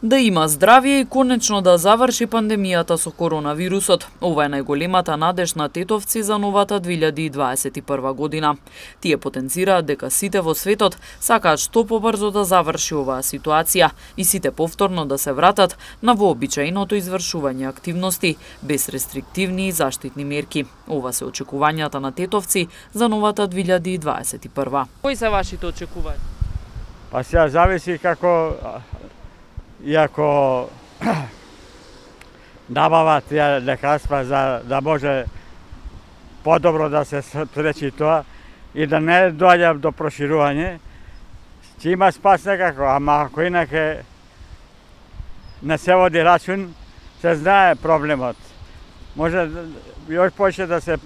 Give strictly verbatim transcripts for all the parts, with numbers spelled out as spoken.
Да има здравје и конечно да заврши пандемијата со коронавирусот. Ова е најголемата надеж на тетовци за новата две илјади и дваесет и прва година. Тие потенцираат дека сите во светот сакаат што побрзо да заврши оваа ситуација и сите повторно да се вратат на вообичаеното извршување активности без рестриктивни и заштитни мерки. Ова се очекувањата на тетовци за новата две илјади и дваесет и прва. Кои се вашите очекувања? Па сега зависи како и ако набават тие лекарства за да може подобро да се спречи тоа и да не доаѓа до проширување, ќе има спас некако, ама ако инаке не се води рачун, се знае проблемот. Може још повеќе да се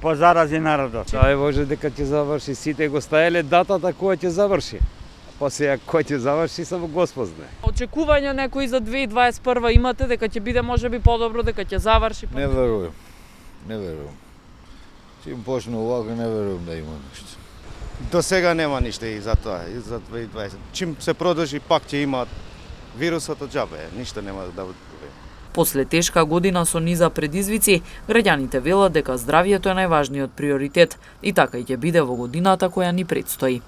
позарази народот. Ај може дека ќе заврши, сите го стаеле датата која ќе заврши. Па сега кој ќе заврши само Господ знае. Очекувања некои за две илјади и дваесет и прва имате дека ќе биде можеби подобро, дека ќе заврши? Не верувам. Не верувам. Чим почне овако, не верувам да има нешто. До сега нема ништо и за тоа, и за две илјади и дваесет. Чим се продолжи пак ќе има вирусот од џабе, ништо нема да буде. После тешка година со низа предизвици, граѓаните велат дека здравјето е најважниот приоритет и така и ќе биде во годината која ни предстои.